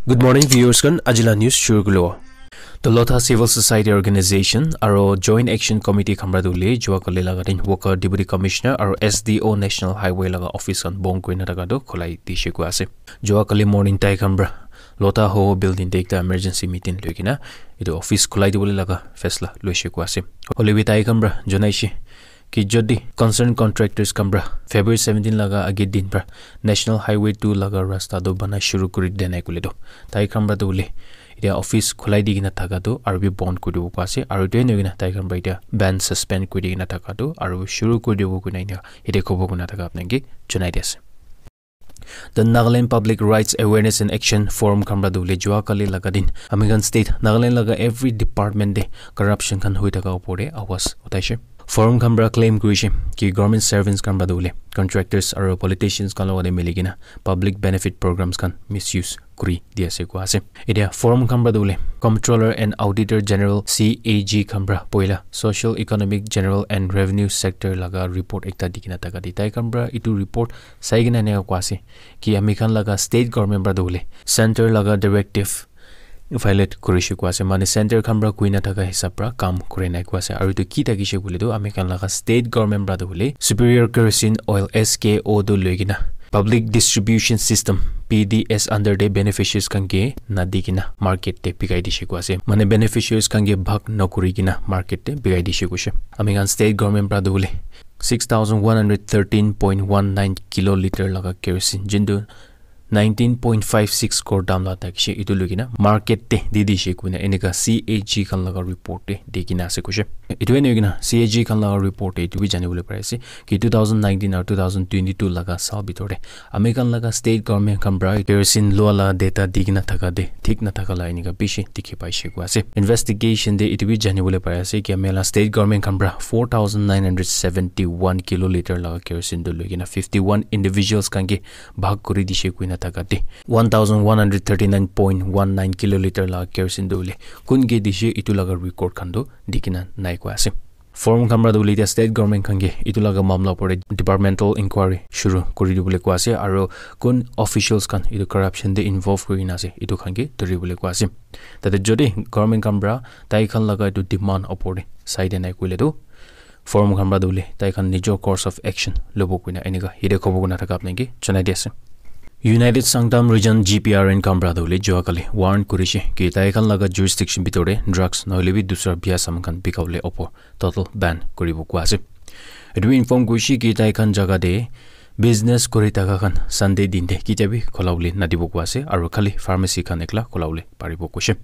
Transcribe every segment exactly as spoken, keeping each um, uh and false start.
Good morning, viewers khan. Ajila news shuru kulo. The Lotha Civil Society Organization aro Joint Action Committee khan pra tu le jua kali laga din worker Deputy Commissioner aro S D O National Highway laga office khan bon kurina thaka tu khulai dishe koi ase. Jua kali morning tai khan pra Lotha Ho building te ekta emergency meeting loi kena etu office khulai dibole laga faisla loishe koi ase. Hoile bi tai khan pra janaishe ki jodi concerned contractors khan pra February seventeen laga age din pra National Highway two laga rasta tu bana shuru kuri de nai kule tu tai khan pra tu le etia office khulai di kena thaka tu aro bi bon kuri dibo koi ase aro etu ena kena tai khan pra etia ban suspend kuri di kena thaka tu aro shuru kuri dibo koi na etia khobo koi na thaka apni ke janai di ase. The Nagaland Public Rights Awareness and Action Forum khan pra tu le jua kali laga din ami khan state Nagaland laga every department te corruption khan hoi thaka upor te awaz uthaishe. Forum khan pra claim kurishe ki government servants khan pra tu le contractors aro politicians khan logote mili kena public benefit programs khan misuse kuri di ase koi ase. Etia forum khan pra tu le Comptroller and Auditor General, C A G khan pra poila Social Economic General and Revenue Sector laga report ekta di kena thaka di tai khan pra etu report sai kena eneka koi ase ki ami khan laga state government pra tu le center laga directive violate kurishe koi ase, mane center khan pra koi na thaka hisab pra kam kuri nai koi ase. Aro etu ki thakishe koile tu ami khan laga state government pra tu hoile Superior Kerosene Oil, S K O, tu loi kena public distribution system, P D S under te beneficiaries khan ke na di kena market te bikai dishe koi ase, mane beneficiaries khan ke bhag na kuri kena market te bikai dishe koishe. Ami khan state government pra tu hoile six thousand one hundred thirteen point one nine kiloliter laga kerosene jintu nineteen point five six crore dam la thakishe etu loi kena market te di dishe koina eneka C A G khan laga report te di kena ase koishe. Etu ena kena C A G khan laga report te etu bi jani bole pari ase ki two thousand nineteen aru two thousand twenty-two laga saal bitor te ami khan laga state government khan pra kerosene lua la data di kena thaka te thik na thaka la eneka bishi dikhi paishe koi ase. Investigation te etu bi jani bole pari ase ki ami la state government khan pra four thousand nine hundred seventy-one kiloliter laga kerosene tu loi kena fifty-one individuals khan ke bhag kuri dishe koina thaka te one thousand one hundred thirty-nine point one nine kiloliter laga kerosene tu hoile kun ke dishe etu laga record khan tu di kena nai koi ase. Forum khan pra tu hoile etia state government khan ke etu laga mamla upor te departmental inquiry shuru kuri dibole koi ase aro kun officials khan etu corruption te involve kuri kena ase etu khan ke dhuri bole koi ase. Tate jodi government khan pra tai khan laga etu demand upor te sai de nai koile tu forum khan pra tu hoile tai khan nijor course of action lobo koina eneka yate khobo koina thaka apni ke janai di ase. United Sangtam Region G P R N khan pra tu hoile jua kali warn kurishe ki tai khan laga jurisdiction bitor te drugs nohoile bi dusra bia saman khan bika bole upor total ban kuribo koi ase. Etu bi inform kurishe ki tai khan jaga te business kuri thaka khan Sunday din te kitia bi khola bole nadibo koi ase aro khali pharmacy khan ekla khola bole paribo koishe.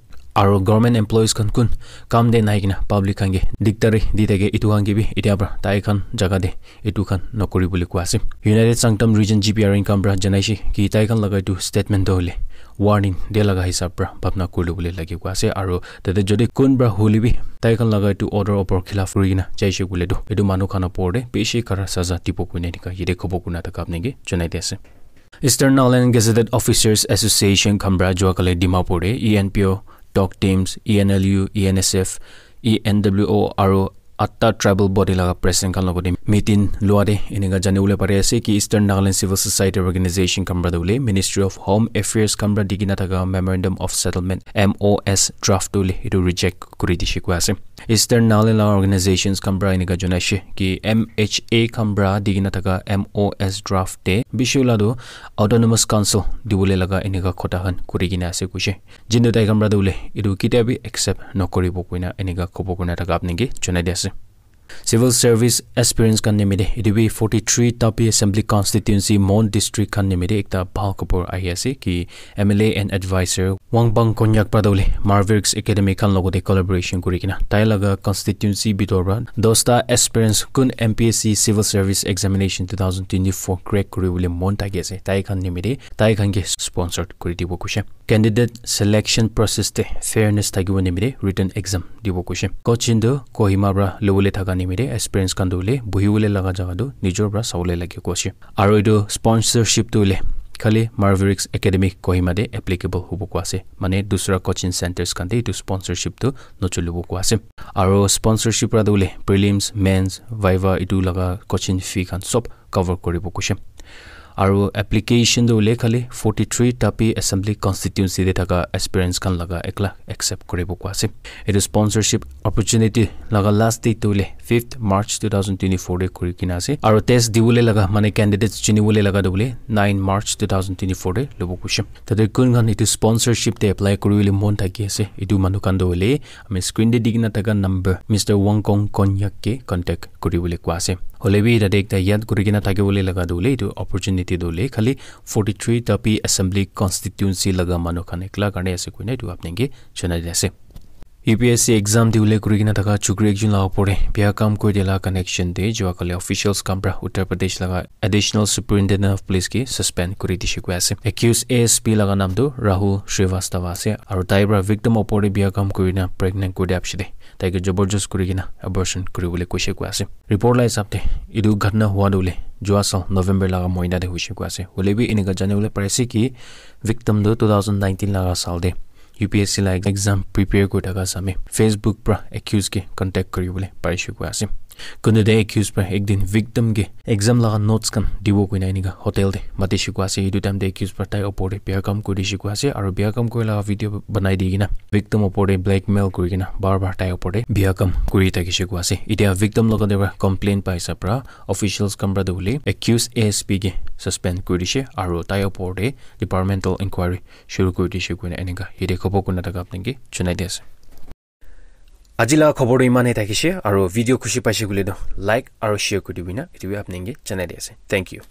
Aro government employees khan kun kam te nai kena public khan ke dikdari di thake etu khan ke bi etia pra tai khan jaga te etu khan nokori bole koi ase. United Sangtam Region G P R N khan pra janaishe ki tai khan laga etu statement tu hoile warning dia laga hisab pra bhabna kuri bole lage koi ase aro tate jodi kun pra hoile bi tai khan laga etu order upor khilaf kuri kena jaishe koile tu etu manu khan upor te bishi kara saza dibo koina eneka yate khobo koina thaka apni ke janai di ase. Eastern Nagaland Gazetted Officers Association khan pra jua kali Dimapur te E N P O, Talk Teams, E N L U, E N S F, E N W O aro atta tribal body laga president khan logote meeting lua te eneka jani bole pari ase ki Eastern Nagaland Civil Society Organization khan pra tu hoile Ministry of Home Affairs khan pra di kena thaka Memorandum of Settlement, M O S, draft tu hoile etu reject kuri dishe koi ase. Eastern Nagaland laga organizations khan pra eneka janaishe ki M H A khan pra di kena thaka M O S draft te bishi wala tu Autonomous Council dibole laga eneka khota khan kuri kena ase koishe. Jintu tai khan pra tu hoile etu kitia bi accept nokoribo koina eneka khobo koina thaka apni ke janai di ase. Civil service aspirants khan nimite etu bi forty-three Tapi Assembly Constituency, Mon District khan nimite ekta bhal khobor ahi ase ki M L A and advisor Wangpang Konyak pra tu hoile Marvirx Academy khan logote collaboration kuri kena tai laga constituency bitor pra dosta aspirants kun M P S C Civil Service Examination two thousand twenty-four crack kuri bole mon thaki ase tai khan nimite tai khan ke sponsored kuri dibo koishe. Candidate selection process te fairness thakibo nimite written exam dibo koishe. Coaching tu Kohima pra lobole thaka nimite aspirants khan tu hoile buhi bole laga jaga tu nijor pra sabole lage koishe. Aro etu sponsorship tu hoile khali Marvirx Academy Kohima te applicable hobo koi ase. Mane dusra coaching centers khan te etu sponsorship tu nocholibo koi ase. Aro sponsorship pra tu hoile prelims, mains, viva etu laga coaching fee khan sob cover koribo koishe. Aru application tu hoile khali forty-three Tapi Assembly Constituency te thaka aspirants khan laga ekla accept kuribo koi ase. Etu sponsorship opportunity laga last date tu hoile fifth March two thousand twenty-four te kuri kena ase. Aru test dibole laga mane candidates chunibole laga tu hoile nine March two thousand twenty-four te lobo koi ase. Tate kun khan etu sponsorship te apply kuribole mon thaki ase, etu manu khan tu hoile ami screen te di kena thaka number Mister Wangkong Konyak ke contact kuribole koi ase. Hoile bi tate ekta yad kuri kena thakibole laga tu hoile etu opportunity tu hoile khali forty-three Tapi Assembly Constituency laga manu khan ekla karne ase koina etu apni ke janai di ase. U P S C exam dibole kuri kena thaka chukri ekjon laga opor te biya kam kuri dia laga connection te jua kali officials khan pra Uttar Pradesh laga Additional Superintendent of Police ke suspend kuri dishe koi ase. Accused A S P laga naam tu Rahul Srivastava ase, aru tai pra victim opor te biya kam kuri na pregnant kuri dia piche te tai ke jabardast kuri kena abortion kuri bole koise koi ase. Report la hisab te etu ghatna hua tu hoile jua saal November laga mohina te hoise koi ase. Hoile bi enika jani bole pari ase ki victim tu two thousand nineteen laga saal te U P S C la exam prepare kuri thaka same Facebook pra accused ke contact kuri bole parishe koi ase. Kuntu te accused pra ek din victim ke exam laga notes khan dibo koina enika hotel te matishe koi ase. Etu time te accused pra tai opor te biya kam kuri dishe koi ase, aru biya kam kuri laga video banai di kena victim opor te blackmail kuri kena bar bar tai opor te biya kam kuri thakishe koi ase. Etia victim laga te pra complaint pai sa pra officials khan pra tu hoile accused A S P ke suspend kuri dishe aru tai opor te departmental inquiry shuru kuri dishe koina enika yate khobor kurina thaka apni ke janai di ase. Aji laga khobor tu iman he thakishe, aru video khushi paishe koile tu like aru share kuri dibi na etu bi apni ke janai di ase. Thank you.